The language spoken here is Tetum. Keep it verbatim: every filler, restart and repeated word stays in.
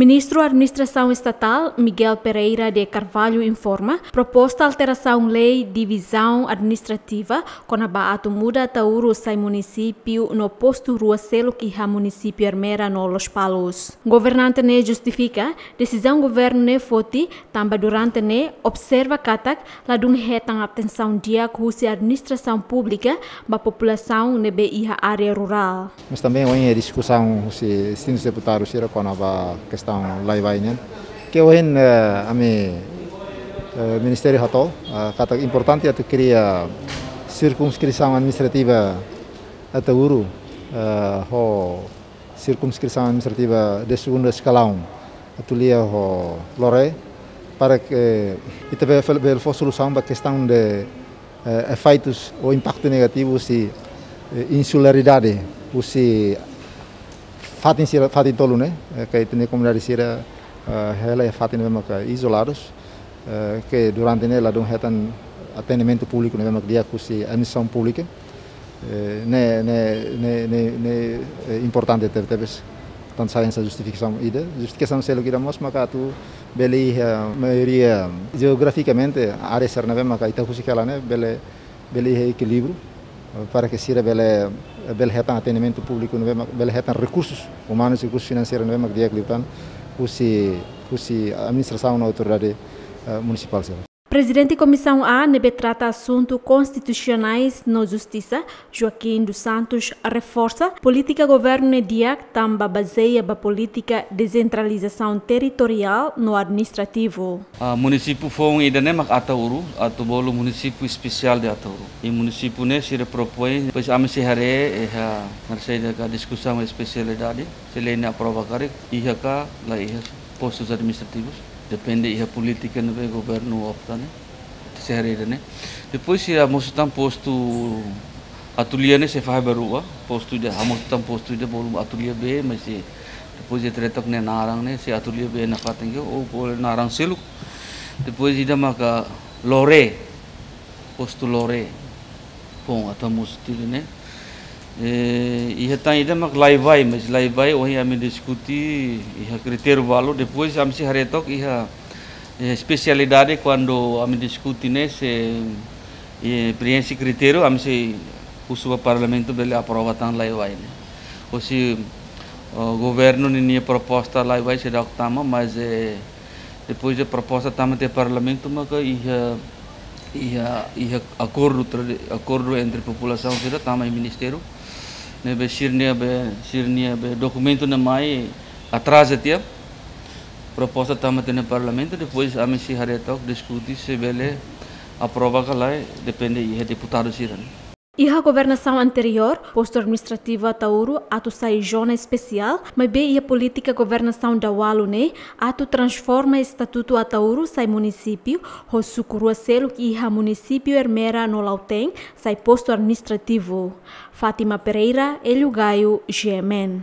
Ministru Administrasaun Estatál, Miguel Pereira de Carvalho, informa proposta alterasaun lei divizaun administrativa kona-ba atu muda Ataúru sai munisípiu no postu rua seluk iha munisípiu Ermera no Lospalos. Governante ne'e justifika desizaun governu ne'e foti tanba durante ne'e observa katak ladún hetan atensaun di'ak husi administrasaun públika ba populasaun ne'ebé iha área rurál. Mas também ohin diskusaun husi distintus deputadu sira kona-ba kestaun lai-vai nian. Ke ohin, eh, ami, eh, ministériu hato'o, eh, katak importante atu kria sirkunskripsaun administrativa Ataúru, eh, ho sirkunskripsaun administrativa de segunda eskalaun atu lia ho Loré, para ke ita bele, bele fó solusaun ba kestaun de, eh, efeitus ou impaktu negativu husi, eh, insularidade husi fatin sira, fatin tolu ne'e, eh, ke ita-nia komunidade sira, eh, hela iha fatin ne'ebé maka izoladus, eh, ke durante ne'e ladún hetan atendimentu públiku ne'ebé maka di'ak husi administrasaun públika. Eh, ne'e, ne'e, ne'e, ne'e, ne'e, eh, importante tebetebes. Tantu sai hanesan justifikasaun ida, justifikasaun seluk ida mós maka atu bele iha maioria jeografikamente área sira ne'ebé maka ita husik hela ne'e bele, bele iha ekilíbriu, eh, para ke sira bele, bele hetan atendimentu públiku ne'ebé maka bele hetan rekursus umanus, rekursus finanseirus ne'ebé maka di'ak liután husi, husi administrasaun no autoridade, eh, munisipál sira. Prezidente Komisaun A ne'ebé trata asuntu konstitusionais no justisa, Joaquim dos Santos, reforsa polítika governu ne'e di'ak tanba bazeia ba polítika desentralizasaun territoriál no administrativu. Ah, munisípiu foun ida-ne'e mak Ataúru, atu bolu munisípiu espesiál de Ataúru. I munisípiu ne'e sira propoin, depois ami sei haree, eh, ha, haree saida ka diskusaun espesialidade, se lei ne'e aprova karik, iha ka la iha postus administrativus, depende iha polítika ne'ebé governu opta ne'e, sei haree ida-ne'e. Depois sei hamosu tan postu Atulia ne'e sei fahe ba rua, postu ida, hamosu tan postu ida bolu Atulia B, mas sei, depois sei haree took nia naran ne'e, se Atulia B nafatin ka, ou bolu naran seluk. Depois ida maka Loré, postu Loré. Bom, atu hamosu tiha ne'e. Eh, iha tan ida mak lai-vai, mas lai-vai ohin ami diskute iha kritériu balu, depois ami sei haree took iha, eh, espesialidade kuandu ami diskute ne'e se, eh, preenxe kritériu, ami sei husu ba parlamentu bele aprova tan lai-vai ne'e. Ou se, eh, governu ninia proposta lai-vai seidauk tama, mas, eh, depois de proposta tama tiha parlamentu maka iha, iha, iha akordu tradi-, akordu entre populasaun sira tama iha ministériu. Ne'ebé sira-nia be, sira-nia be dokumentu ne'e mai atraza tiha. Proposta tama tiha iha parlamentu, depois ami sei haree took diskute se bele aprova ka lae, depende iha deputadu sira. Iha governasaun anteriór, postu administrativu Ataúru atu sai zona espesiál, maibé iha polítika governasaun daualu ne'e atu transforma estatutu Ataúru sai munisípiu, ho suku rua seluk iha munisípiu Ermera no Lautém sai postu administrativu. Fátima Pereira, Hélio Gaio, G M N.